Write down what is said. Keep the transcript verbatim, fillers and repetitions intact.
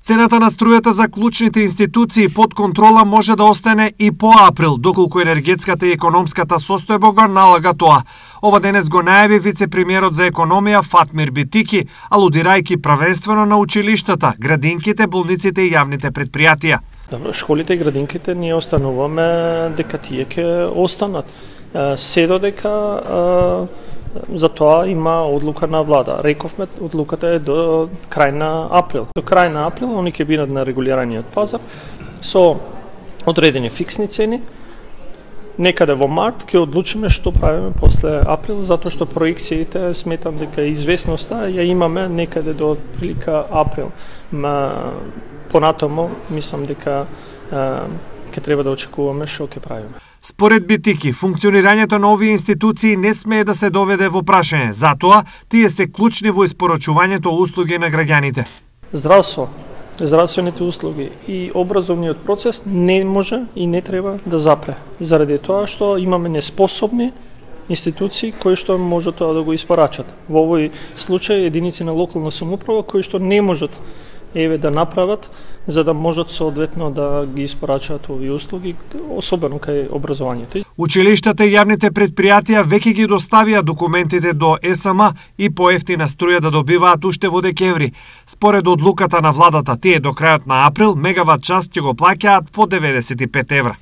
Цената на струјата за клучните институции под контрола може да остане и по април, доколку енергетската и економската состојба го налага тоа. Ова денес го најави вице-премиерот за економија Фатмир Битики, алудирајќи правенствено на училиштата, градинките, болниците и јавните предпријатија. Добро, школите и градинките ние остануваме дека тие ќе останат. Се додека за тоа има одлука на влада. Рековме, одлуката е до крај на април. До крај на април они ќе бидат на регулираниот пазар со одредени фиксни цени. Некаде во март ќе одлучиме што правиме после април, затоа што проекциите сметам дека известноста ја имаме некаде до прилика април. Ма понатаму мислам дека ќе треба да очекуваме што ќе правиме. Според Битики, функционирањето на овие институции не смее да се доведе во прашање, затоа тие се клучни во испорачувањето услуги на граѓаните. Здравство, здравствените услуги и образовниот процес не може и не треба да запре, заради тоа што имаме неспособни институции кои што може тоа да го испорачат. Во овој случај единици на локална самоуправа кои што не можат еве да направат за да можат соодветно да ги испорачаат овие услуги, особено кај образованието. Училиштата и јавните предпријатија веќе ги доставија документите до Е С М и поевтина струја да добиваат уште во декември. Според одлуката на владата, тие до крајот на април мегават час ќе го плаќаат по деветдесет и пет евра.